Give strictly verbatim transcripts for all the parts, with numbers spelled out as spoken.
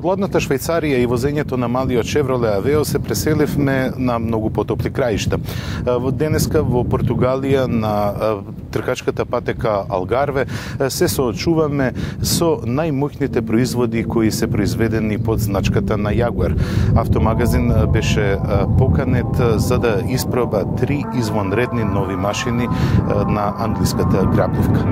Од ладната Швајцарија и возењето на малиот Chevrolet Aveo се преселивме на многу потопли краишта. Денеска во Португалија на тркачката патека Алгарве се соочуваме со најмоќните производи кои се произведени под значката на Jaguar. Автомагазин беше поканет за да испроба три извонредни нови машини на англиската грабливка.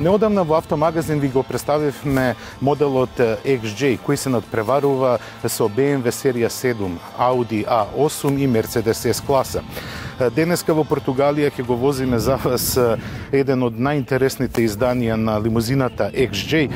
Неодамна во автомагазин ви го представивме моделот X J, кој се надпреварува со B M W серија седум, Audi A осум и Mercedes S класа. Денеска во Португалија ќе го возиме за вас еден од најинтересните изданија на лимузината X J,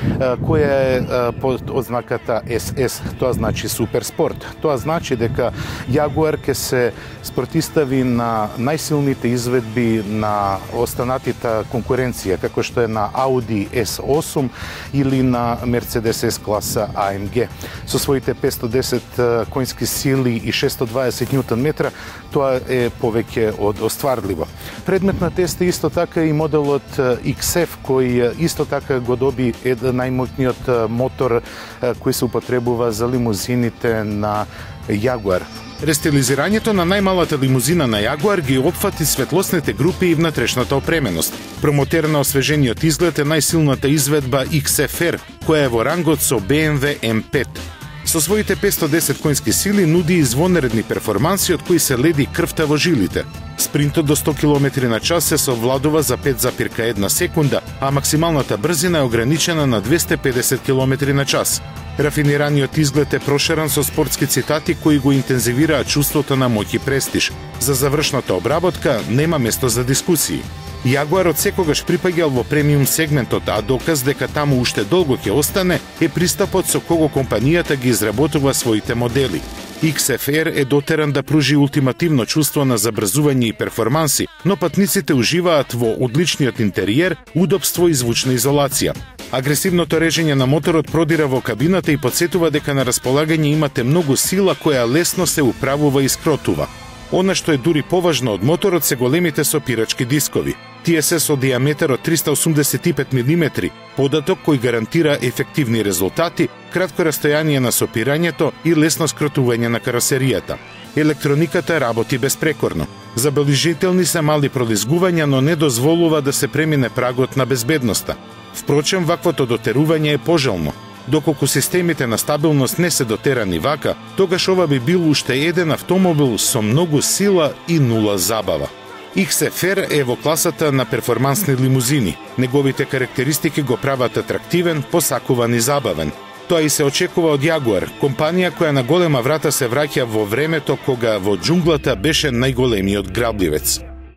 која е под ознаката S S, тоа значи суперспорт. Тоа значи дека Jaguar ќе се спротистави на најсилните изведби на останатите конкуренција, како што е на Audi S осум или на Mercedes S класа A M G. Со своите петстотини и десет коњски сили и шестоста и дваесет њутон метра, тоа е повеќе од остварливо. Предмет на тест е исто така и моделот X F, кој исто така го доби еден најмоќниот мотор кој се употребува за лимузините на Jaguar. Рестилизирањето на најмалата лимузина на Jaguar ги опфати светлосните групи и внатрешната опременост. Промотерна освежениот изглед е најсилната изведба X F R, која е во рангот со B M W M пет. Со своите петстотини и десет коњски сили нуди извонредни перформанси од кои се леди крвта во жилите. Спринтот до сто километри на час се совладува за пет запирка една секунда, а максималната брзина е ограничена на двесте и педесет километри на час. Рафинираниот изглед е проширен со спортски цитати кои го интензивираат чувството на моќ и престиж. За завршната обработка нема место за дискусии. Jaguar од секогаш припаѓал во премиум сегментот, а доказ дека таму уште долго ќе остане е пристапот со кого компанијата ги изработува своите модели. X F R е дотеран да пружи ултимативно чувство на забрзување и перформанси, но патниците уживаат во одличниот интериер, удобство и звучна изолација. Агресивното режење на моторот продира во кабината и подсетува дека на располагање имате многу сила која лесно се управува и скротува. Она што е дури поважно од моторот се големите сопирачки дискови. Тие се со диаметар од триста осумдесет и пет милиметри, податок кој гарантира ефективни резултати, кратко растојание на сопирањето и лесно скротување на каросеријата. Електрониката работи безпрекорно. Забележителни се мали пролизгувања, но не дозволува да се премине прагот на безбедноста. Впрочем, ваквото дотерување е пожелно. Доколку системите на стабилност не се дотерани вака, тогаш ова би бил уште еден автомобил со многу сила и нула забава. X F R е во класата на перформансни лимузини. Неговите карактеристики го прават атрактивен, посакуван и забавен. Тоа и се очекува од Jaguar, компанија која на голема врата се враќа во времето кога во џунглата беше најголемиот грабливец.